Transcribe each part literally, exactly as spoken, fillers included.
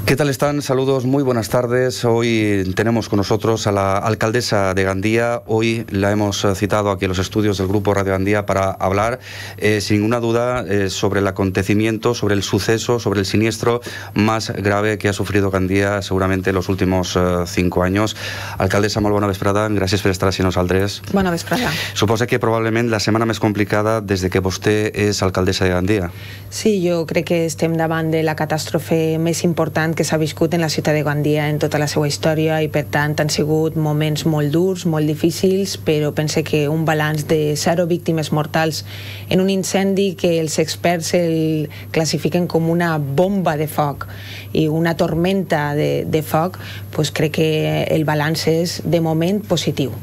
¿Qué tal están? Saludos, muy buenas tardes. Hoy tenemos con nosotros a la alcaldesa de Gandía. Hoy la hemos citado aquí en los estudios del Grupo Radio Gandía para hablar, eh, sin ninguna duda, eh, sobre el acontecimiento, sobre el suceso, sobre el siniestro más grave que ha sufrido Gandía seguramente en los últimos eh, cinco años. Alcaldessa, molt bona vesprada. Gràcies per estar així amb nosaltres. Bona vesprada. Suposa que probablement la setmana més complicada des de que vostè és alcaldessa de Gandía. Sí, jo crec que estem davant de la catàstrofe més important que s'ha viscut en la ciutat de Gandia en tota la seva història i per tant han sigut moments molt durs, molt difícils, però pense que un balanç de zero víctimes mortals en un incendi que els experts el classifiquen com una bomba de foc i una tormenta de, de foc, pues crec que el balanç és de moment positiu.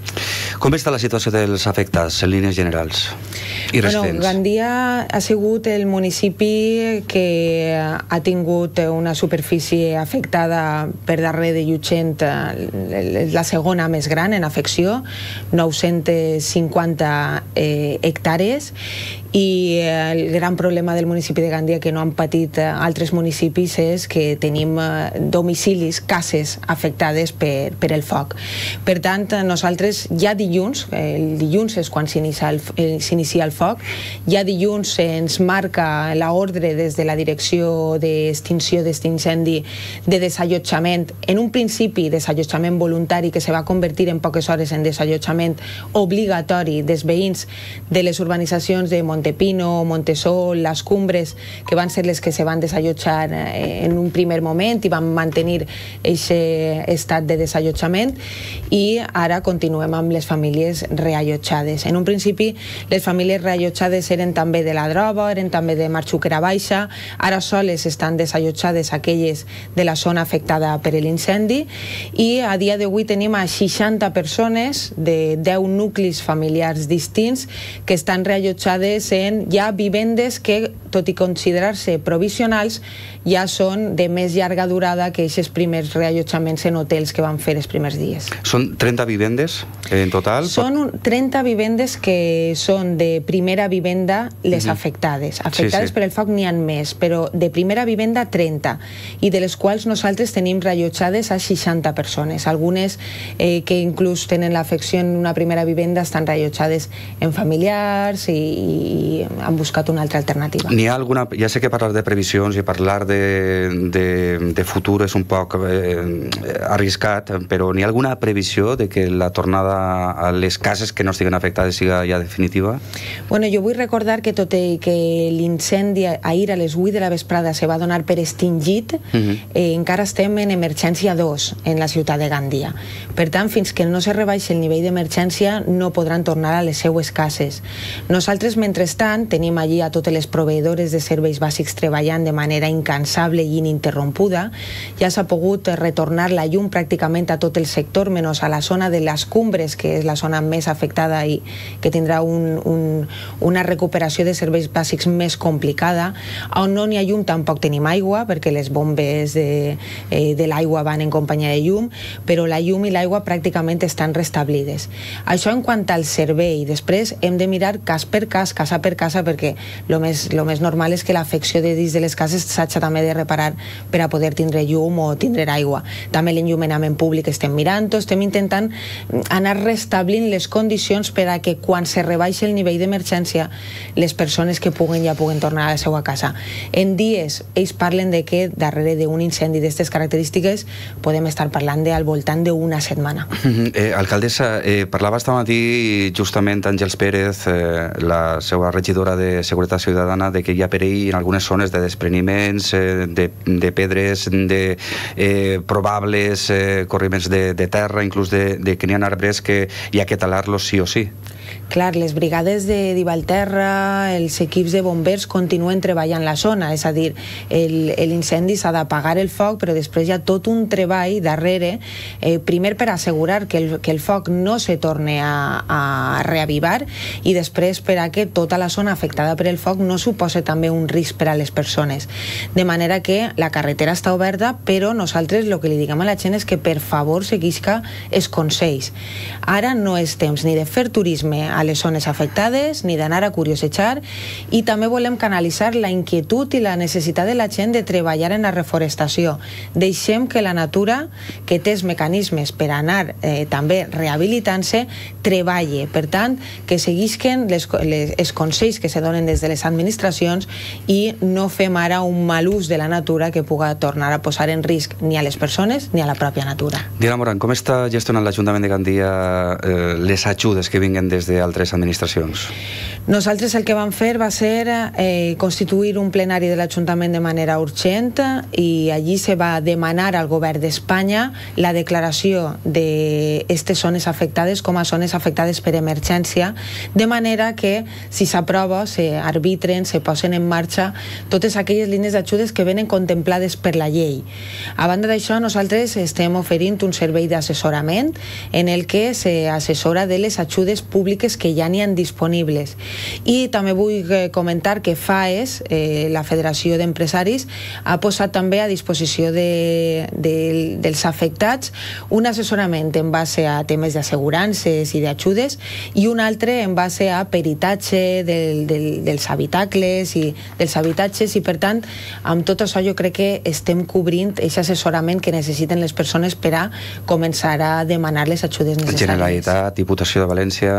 Com està la situació dels afectats en línies generals i residents? Bueno, Gandia ha sigut el municipi que ha tingut una superfície afectada per darrere de Llutxent, la segona més gran en afecció, nou-cents cinquanta eh, hectàrees, i el gran problema del municipi de Gandia que no han patit altres municipis és que tenim domicilis, cases afectades per, per el foc. Per tant, nosaltres ja dilluns, el dilluns és quan s'inicia el, s'inicia el foc, ja dilluns ens marca l'ordre des de la direcció d'extinció d'aquest incendi de desallotjament, en un principi desallotjament voluntari que se va convertir en poques hores en desallotjament obligatori dels veïns de les urbanitzacions de Montepino, Montesol, les Cumbres, que van ser les que se van desallotjar en un primer moment i van mantenir aquest estat de desallotjament, i ara continuem amb les famílies reallotjades. En un principi les famílies reallotjades eren també de la Droba, eren també de Marxuquera Baixa, ara soles estan desallotjades aquelles de la zona afectada per l'incendi, i a dia d'avui tenim a seixanta persones de deu nuclis familiars distints que estan reallotjades en ja vivendes que, tot i considerar-se provisionals, ja són de més llarga durada que aquests primers reallotjaments en hotels que van fer els primers dies. Són trenta vivendes en total? Són trenta vivendes que són de primera vivenda les uh-huh. afectades. Afectades sí, sí. per el foc n'hi ha més, però de primera vivenda trenta, i de les quals nosaltres tenim reallotjades a seixanta persones. Algunes eh, que inclús tenen l'afecció en una primera vivenda estan reallotjades en familiars i, i han buscat una altra alternativa. N'hi ha alguna... Ja sé que parlar de previsions i parlar de, de, de futur és un poc eh, arriscat, però n'hi ha alguna previsió de que la tornada a les cases que no estiguen afectades siga ja definitiva? Bueno, jo vull recordar que tot i que l'incendi ahir a les vuit de la vesprada se va donar per extingit, uh-huh. eh, encara estem en emergència dos en la ciutat de Gandia. Per tant, fins que no se rebaixi el nivell d'emergència no podran tornar a les seues cases. Nosaltres, mentrestant, tenim allí a totes les proveïdores de serveis bàsics treballant de manera incansable i ininterrompuda. Ja s'ha pogut retornar la llum pràcticament a tot el sector, menys a la zona de les Cumbres, que és la zona més afectada i que tindrà un, un, una recuperació de serveis bàsics més complicada. On no n'hi ha llum tampoc tenim aigua, perquè les bombes de, eh, de l'aigua van en companyia de llum, però la llum i l'aigua pràcticament estan restablides. Això en quant al servei. Després hem de mirar cas per cas, casa per casa, perquè el més, lo més normal és que l'afecció de dins de les cases s'hagi també de reparar per a poder tindre llum o tindre aigua. També l'enllumenament públic estem mirant-ho, estem intentant anar restablint les condicions per a que quan se rebaixi el nivell d'emergència les persones que puguen ja puguen tornar a la seva casa. En dies ells parlen de que darrere d'un incendi d'aquestes característiques podem estar parlant de al voltant d'una setmana. Eh, alcaldessa, eh, parlava esta matí justament Àngels Pérez, eh, la seva regidora de Seguretat Ciutadana, de que hi ha perill en algunes zones de despreniments, eh, de, de pedres, de eh, probables eh, corriments de, de terra, inclús de, de que n'hi ha arbres que hi ha que talar-los sí o sí. Clar, les brigades de Divalterra, els equips de bombers continuen treballant la zona, és a dir, l'incendi s'ha d'apagar el foc, però després hi ha tot un treball darrere, eh, primer per assegurar que el, que el foc no se torni a, a reavivar, i després per a que tota la zona afectada per el foc no suposi també un risc per a les persones. De manera que la carretera està oberta, però nosaltres el que li diguem a la gent és que per favor seguisca els consells. Ara no és temps ni de fer turisme a a les zones afectades ni d'anar a curiosejar, i també volem canalitzar la inquietud i la necessitat de la gent de treballar en la reforestació. Deixem que la natura, que té els mecanismes per anar eh, també rehabilitant-se, treballe. Per tant, que seguisquen les, les, els consells que se donen des de les administracions i no fem ara un mal ús de la natura que puga tornar a posar en risc ni a les persones ni a la pròpia natura. Diana Moran, com està gestionant l'Ajuntament de Gandia eh, les ajudes que vinguen des d'altres administracions? Nosaltres el que vam fer va ser eh, constituir un plenari de l'Ajuntament de manera urgent i allí se va demanar al govern d'Espanya la declaració d'aquestes zones afectades com a zones afectades per emergència, de manera que si s'aprova, se arbitren, se posen en marxa totes aquelles línies d'ajudes que venen contemplades per la llei. A banda d'això, nosaltres estem oferint un servei d'assessorament en el que s'assessora de les ajudes públiques que ja n'hi ha disponibles. I també vull comentar que FAES, eh, la Federació d'Empresaris, ha posat també a disposició de, de, dels afectats un assessorament en base a temes d'assegurances i d'ajudes i un altre en base a peritatge del, del, dels habitacles i dels habitatges, i per tant amb tot això jo crec que estem cobrint aquest assessorament que necessiten les persones per a començar a demanar les ajudes necessàries. Generalitat, Diputació de València...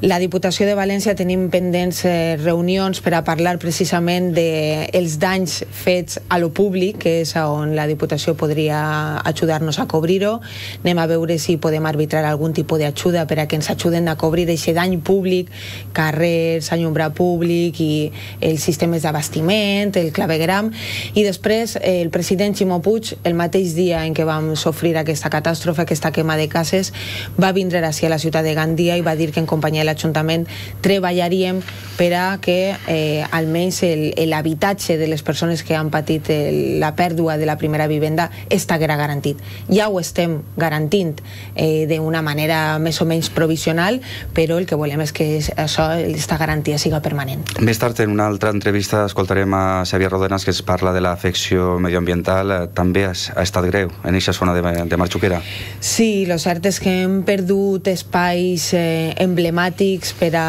La Diputació de València tenim pendents eh, reunions per a parlar precisament dels de danys fets a lo públic, que és on la Diputació podria ajudar-nos a cobrir-ho. Anem a veure si podem arbitrar algun tipus d'ajuda per a que ens ajuden a cobrir aquest dany públic, carrers, allumbrar públic i els sistemes d'abastiment, el clavegram. I després eh, el president Ximo Puig, el mateix dia en què vam sofrir aquesta catàstrofe, aquesta quema de cases, va vindre ací a la ciutat de Gandia i va dir que en companyia de l'Ajuntament treballaríem per a que eh, almenys l'habitatge de les persones que han patit el, la pèrdua de la primera vivenda estiguera garantit. Ja ho estem garantint eh, d'una manera més o menys provisional, però el que volem és que això, aquesta garantia siga permanent. Més tard, en una altra entrevista, escoltarem a Xavier Rodenas, que es parla de l'afecció medioambiental. Eh, també ha, ha estat greu en aquesta zona de, de Marxuquera. Sí, el cert és que hem perdut espais eh, emblemàtics per a,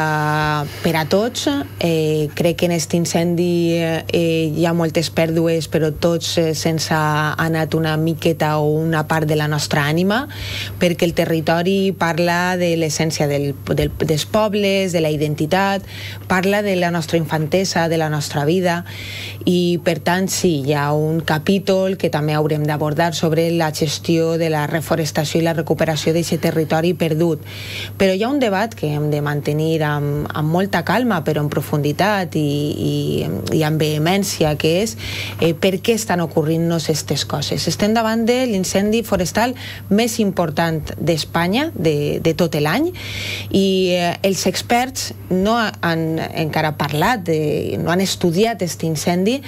per a tots. Eh, crec que en aquest incendi eh, hi ha moltes pèrdues, però tots eh, sense ha anat una miqueta o una part de la nostra ànima, perquè el territori parla de l'essència del, del, dels pobles, de la identitat, parla de la nostra infantesa, de la nostra vida, i per tant sí, hi ha un capítol que també haurem d'abordar sobre la gestió de la reforestació i la recuperació d'aquest territori perdut. Però hi ha un debat que hem de mantenir amb, amb molta calma, però en profunditat i, i, i amb vehemència, que és eh, per què estan ocorrint-nos aquestes coses. Estem davant de l'incendi forestal més important d'Espanya, de, de tot l'any, i eh, els experts no han encara parlat, de, no han estudiat aquest incendi,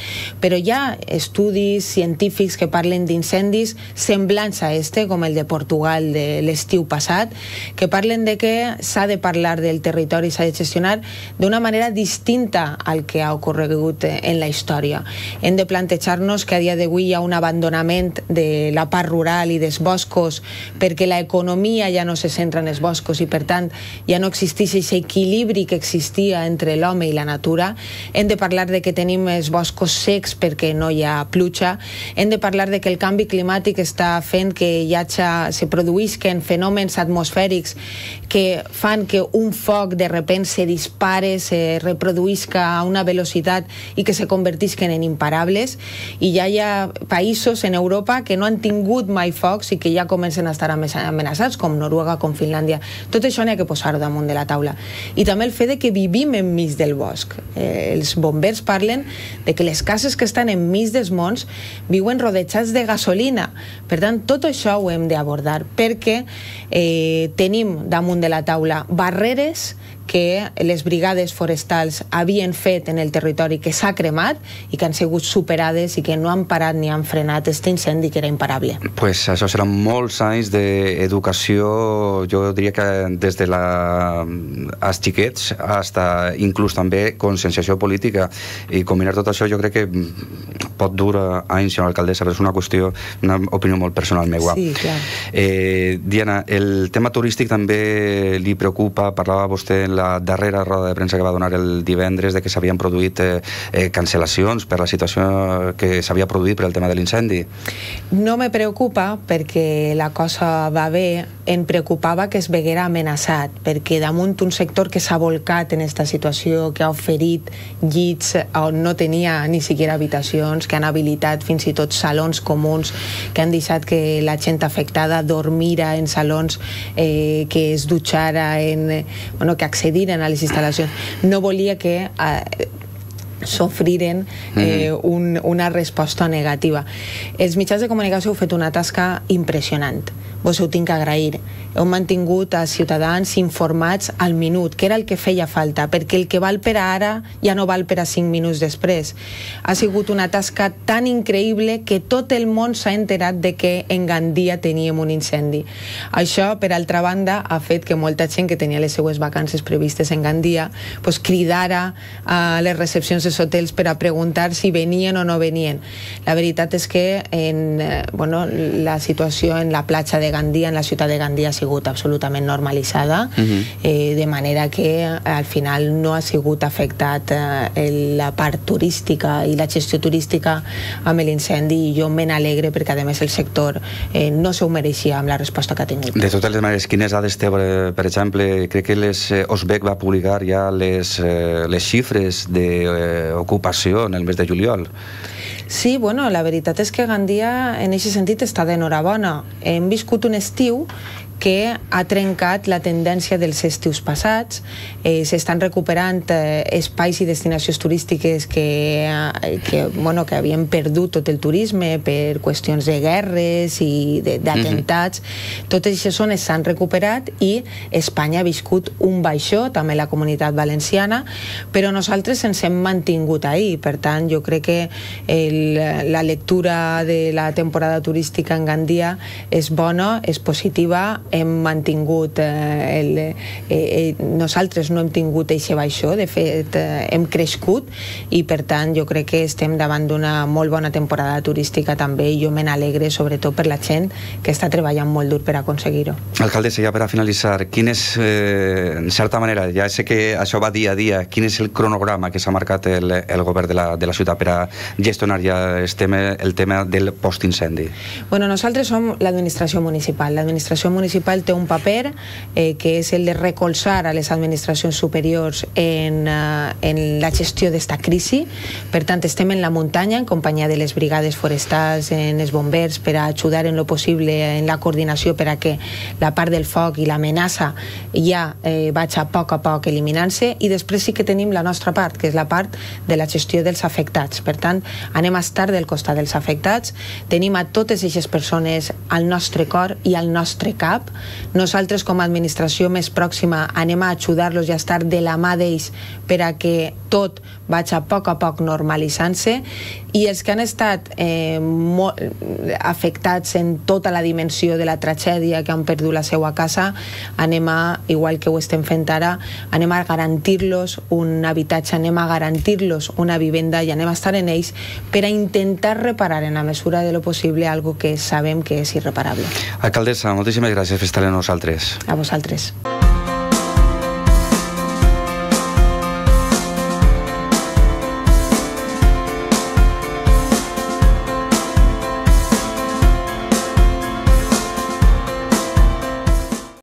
però hi ha estudis científics que parlen d'incendis semblants a este, com el de Portugal de l'estiu passat, que parlen de que s'ha de parlar del territori, s'ha de gestionar d'una manera distinta al que ha ocorregut en la història. Hem de plantejar-nos que a dia d'avui hi ha un abandonament de la part rural i dels boscos perquè l'economia ja no se centra en els boscos i per tant ja no existeix aquest equilibri que existia entre l'home i la natura. Hem de parlar de que tenim els boscos secs perquè no hi ha pluja. Hem de parlar de que el canvi climàtic està fent que hi hagi, se produïsquen fenòmens atmosfèrics que fan que un foc de repent se dispare, se reproduïsca a una velocitat i que se convertisquen en imparables, i ja hi ha països en Europa que no han tingut mai focs i que ja comencen a estar amenaçats, com Noruega, com Finlàndia. Tot això n'hi ha que posar damunt de la taula. I també el fet de que vivim enmig del bosc. Eh, els bombers parlen de que les cases que estan enmig dels monts viuen rodejats de gasolina. Per tant, tot això ho hem d'abordar perquè eh, tenim damunt de la taula barreres que les brigades forestals havien fet en el territori que s'ha cremat i que han sigut superades i que no han parat ni han frenat aquest incendi que era imparable. Pues això seran molts anys d'educació, jo diria que des de la... als xiquets hasta inclús també conscienciació política, i combinar tot això jo crec que pot durar anys, senyora alcaldessa, però és una qüestió, una opinió molt personal meua. Sí, clar. Eh, Diana, el tema turístic també li preocupa, parlava vostè en la la darrera roda de premsa que va donar el divendres de que s'havien produït eh, eh, cancel·lacions per la situació que s'havia produït per el tema de l'incendi. No me preocupa perquè la cosa va bé, em preocupava que es veguera amenaçat, perquè damunt un sector que s'ha volcat en aquesta situació, que ha oferit llits on no tenia ni siquiera habitacions, que han habilitat fins i tot salons comuns, que han deixat que la gent afectada dormira en salons, eh, que es dutxara, en, bueno, que accediren a les instal·lacions. No volia que eh, sofriren eh, un, una resposta negativa. Els mitjans de comunicació heu fet una tasca impressionant. Vos heu tinc que agrair. Heu mantingut a ciutadans informats al minut, que era el que feia falta, perquè el que val per a ara ja no val per a cinc minuts després. Ha sigut una tasca tan increïble que tot el món s'ha enterat de que en Gandia teníem un incendi. Això, per altra banda, ha fet que molta gent que tenia les seues vacances previstes en Gandia pues, cridara a les recepcions dels hotels per a preguntar si venien o no venien. La veritat és que en, eh, bueno, la situació en la platja de Gandia, en la ciutat de Gandia, ha sigut absolutament normalitzada, uh-huh. eh, de manera que al final no ha sigut afectat eh, la part turística i la gestió turística amb l'incendi, i jo me n'alegre perquè a més el sector eh, no s'ho mereixia amb la resposta que ha tingut. De totes les maneres, quines dades té, per exemple, crec que les, eh, Osbec va publicar ja les, eh, les xifres d'ocupació en el mes de juliol. Sí, bueno, la veritat és que Gandia en aquest sentit està d'enhorabona. Hem viscut un estiu que ha trencat la tendència dels estius passats. Eh, S'estan recuperant eh, espais i destinacions turístiques que, eh, que, bueno, que havien perdut tot el turisme per qüestions de guerres i d'atemptats. Uh-huh. Totes aquestes zones s'han recuperat i Espanya ha viscut un baixó, també la Comunitat Valenciana, però nosaltres ens hem mantingut ahí. Per tant, jo crec que el, la lectura de la temporada turística en Gandia és bona, és positiva. Hem mantingut eh, el, eh, eh, nosaltres no hem tingut eixe baixó, de fet eh, hem crescut, i per tant jo crec que estem davant d'una molt bona temporada turística també, i jo me n'alegre sobretot per la gent que està treballant molt dur per aconseguir-ho. Alcaldessa, ja per a finalitzar, quin és, eh, en certa manera, ja sé que això va dia a dia, quin és el cronograma que s'ha marcat el, el govern de la, de la ciutat per a gestionar ja el tema, el tema del postincendi? Bueno, nosaltres som l'administració municipal. L'administració municipal té un paper eh, que és el de recolzar a les administracions superiors en, uh, en la gestió d'esta crisi. Per tant, estem en la muntanya en companyia de les brigades forestals, en els bombers, per a ajudar en lo possible en la coordinació per a que la part del foc i l'amenaça ja eh, vaig a poc a poc eliminant-se, i després sí que tenim la nostra part, que és la part de la gestió dels afectats. Per tant, anem a estar del costat dels afectats, tenim a totes aquestes persones al nostre cor i al nostre cap. Nosaltres, com a administració més pròxima, anem a ajudar-los i a estar de la mà d'ells per a que tot vagi a poc a poc normalitzant-se, i els que han estat eh, molt afectats en tota la dimensió de la tragèdia, que han perdut la seva casa, anem a, igual que ho estem fent ara, anem a garantir-los un habitatge, anem a garantir-los una vivenda, i anem a estar en ells per a intentar reparar en la mesura de lo possible algo que sabem que és irreparable. Alcaldessa, moltíssimes gràcies per estar amb nosaltres. A vosaltres.